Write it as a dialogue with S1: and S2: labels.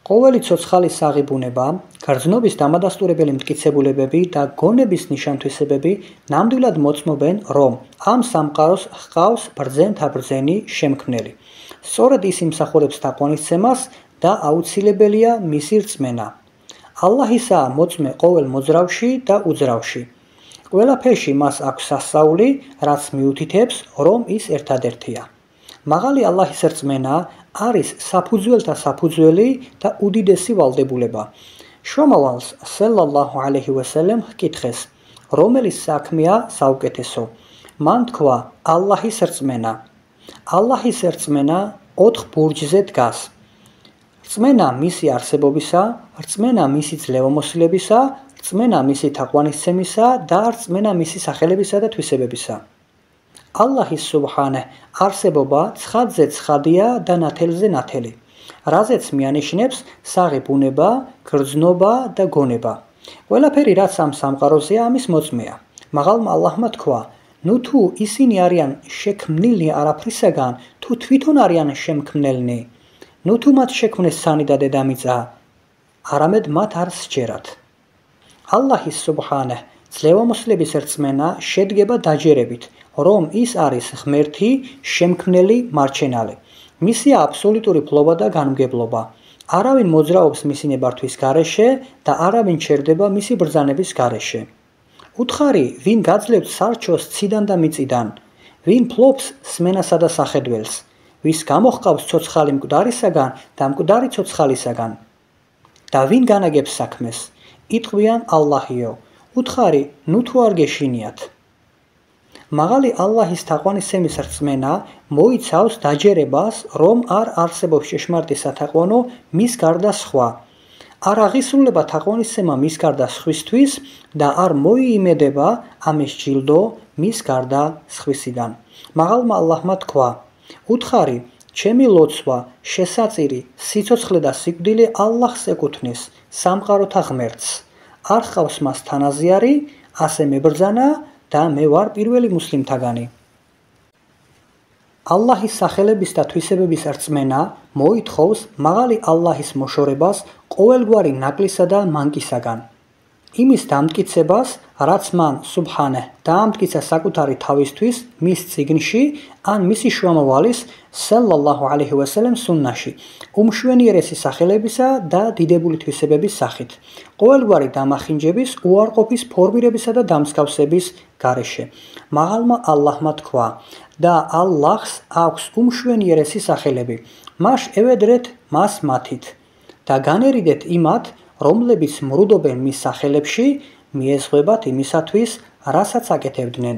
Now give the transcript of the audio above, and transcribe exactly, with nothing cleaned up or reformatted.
S1: ყოველი ცოცხალის საღებუნება, გრძნობის დამადასტურებელი მტკიცებულებები და გონების ნიშანთვისებები ნამდვილად მოწმობენ, რომ ამ სამყაროს ჰყავს ბრძენთაბრძენი შემქმნელი. სწორედ ის იმსახურებს თაყვანისცემას და აუცილებელია მისი რწმენა. ალლაჰისაა მოწმე ყოველ მოძრავში და უძრავში. ყველაფერში მას აქვს სასწაული, რაც მიუთითებს, რომ ის ერთადერთია. მაღალი ალლაჰის რწმენა არის საფუძველთა საფუძველი და უდიდესი ვალდებულება. შრომავალს სალალლაჰუ ალეიჰი ვასალამ ჰკითხეს, რომელი საქმეა საუკეთესო? მან თქვა, ალლაჰის რწმენა. ალლაჰის რწმენა ოთხ ბურჯზე დგას. რწმენა მისი არსებობისა, რწმენა მისი ძლევამოსილებისა, რწმენა მისი თაყვანისცემისა და რწმენა მისი სახელებისა და თვისებებისა. ალლაჰის სუბჰანაჰ არსებობა ცხადზე ცხადია და ნათელზე ნათელი, რაზეც მიანიშნებს საღებუნება, გრძნობა და გონება. ყველაფერი რაც ამ სამყაროზეა ამის მოწმეა. მაღალმა ალლაჰმა თქვა, ნუ თუ ისინი არიან შექმნილნი არაფრისაგან, თუ თვითონ არიან შემქმნელნი, ნუ თუ მათ შექმნეს სანი და დედამიწა, არამედ მათ არ სჯერათ. ალლაჰის სუბჰანაჰ ძლევამოსილების რწმენა შედგება დაჯერებით, რომ ის არის ღმერთი, შემქმნელი, მარჩენალი. მისია აბსოლუტური ფლობა და განმგებლობა. არავინ მოძრაობს მისი ნებართვის გარეშე და არავინ ჩერდება მისი ბრძანების გარეშე. უთხარი, ვინ გაძლევს სარჩოს ციდან და მიწიდან, ვინ ფლობს სმენასა და სახედველს, ვის გამოჰყავს ცოცხალი მკვდარისაგან და მკვდარი ცოცხალისაგან. და ვინ განაგებს საქმეს? იტყვიან ალლაჰიო. უთხარი, ნუ თუ არ გეშინიათ. მაღალი ალლაჰის თაყვანისცემის რწმენა მოიცავს დაჯერებას, რომ არ არსებობს ჭეშმარიტი სათაყვანო მის გარდა სხვა. არ აღისრულება თაყვანისცემა მის გარდა სხვისთვის და არ მოიიმედება ამის ჯილდო მის გარდა სხვისიდან. მაღალმა ალლაჰმა თქვა, უთხარი, ჩემი ლოცვა, შესაწირი, სიცოცხლე და სიკვდილი ალლაჰს ეკუთვნის, სამყაროთა ღმერთს. არ ჰყავს მას თანაზიარი, ასე მებრძანა და მე ვარ პირველი მუსლიმთაგანი. ალლაჰის სახელების და თვისებების რწმენა მოითხოვს მაღალი ალლაჰის მოშორებას ყოველგვარი ნაკლისა და მანკისაგან. იმის დამტკიცებას, რაც მან სუბჰანაჰ დაამტკიცა საკუთარი თავისთვის მის წიგნში ან მისი შრომავალის სალალლაჰუ ალეიჰი ვასალამ სუნნაში, უმშვენიერესი სახელებისა და დიდებული თვისებების სახით, ყოველგვარი დამახინჯების, უარყოფის, ფორმირებისა და დამსგავსების გარეშე. მაღალმა ალლაჰმა თქვა და ალლაჰს აქვს უმშვენიერესი სახელები, მას ევედრეთ მას მათით და განერიდეთ იმათ, რომლებიც მრუდობენ მის სახელებში, მიეზღებათ იმისათვის, რასაც აკეთებდნენ.